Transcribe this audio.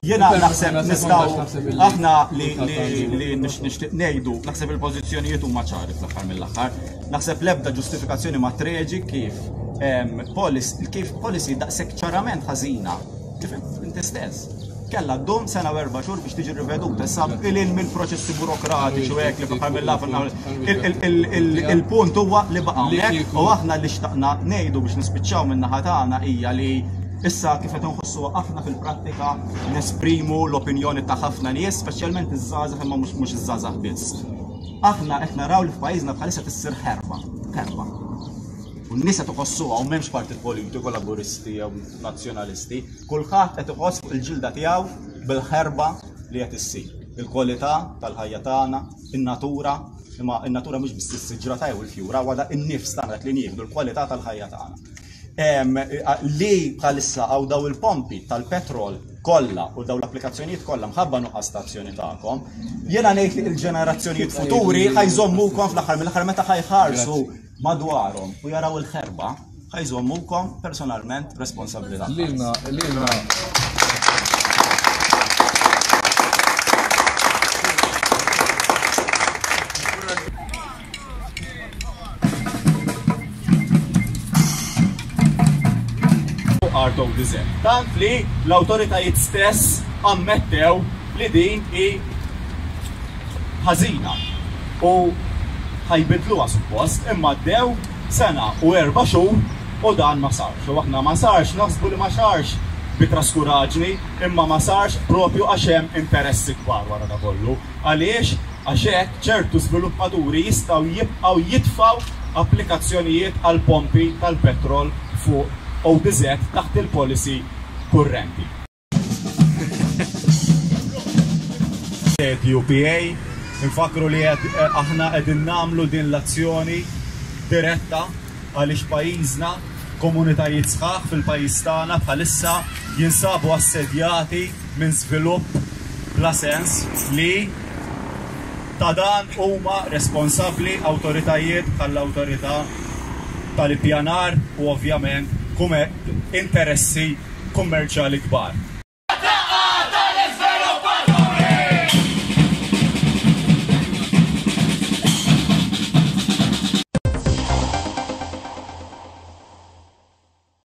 Jiena naħseb nistgħu aħna li li nixtieq ngħidu, naħseb il-pożizzjonijiet huma ċari fl-aħħar mill-aħħar. Naħseb l-ebda ġustifikazzjoni ma treġi kif kif policy daqshekk ċarament ħażina kif inti stess. Kella ddum sena u erba' xhur biex tiġi riveduta. Issa ilin mill-proċessi burokratiċi u hekk li fl-aħħar mill-aħħar il-punt huwa li baqa' hawnhekk u aħna li xtaqna ngħidu biex nispiċċaw min-naħa tagħna hija li Issa kif qed inħossuha aħna fil-prattika nesprimu l-opinjoni ta' ħafna nies, speċjalment iż-żgħażagħ imma mhux mhux iż-żgħażagħ biss. Aħna qed naraw li f'pajjiżna bħalissa tissir ħerba, ħerba. U n-nies qed iħossuha u m'hemmx partit politiku laburisti jew nazzjonalisti, kulħadd qed iħoss fuq il-ġilda tiegħu bil-ħerba li qed issir. Il-kwalità tal-ħajja tagħna, in-natura, imma in-natura mhux biss is-siġra ta' jew il-fjura, huwa in-nifs tagħna dak li nieħdu, l-kwalità tal-ħajja tagħna. Li bħalissa għaw daw il-pompi tal-petrol kollha u daw l-applikazzjonijiet kollha mħabba nuqqas ta' azzjoni tagħkom, jiena ngħid li l-ġenerazzjonijiet futuri ħajżommukom fl-aħħar mill-aħħar meta ħajħarsu madwarhom u jaraw il-ħerba, ħajżommukom personalment responsabbli. Lilna, lilna. Art of Desert. Tant li l-awtoritajiet stess ammettew li din hi ħażina u ħajbidluha suppost, imma għaddew sena u erba' xhur u dan ma sarx. U aħna ma sarx, naħsbu li ma sarx bi traskuraġni, imma ma sarx propju għax hemm interessi kbar wara da kollu. Għaliex? Għax hekk ċertu żviluppaturi jistgħu jibqgħu jitfgħu applikazzjonijiet għal pompi tal-petrol fuq ODZ taħt il-policy kurrenti. UPA, Infakkru li qed aħna qegħdin nagħmlu din l-azzjoni diretta għaliex pajjiżna, komunitajiet sħaħ fil-pajjiż tagħna bħalissa jinsabu assedjati minn żvilupp bla sens li ta' dan huma responsabbli awtoritajiet bħall-Awtorità tal-Ippjanar u ovvjament interessi kummerċjali kbar.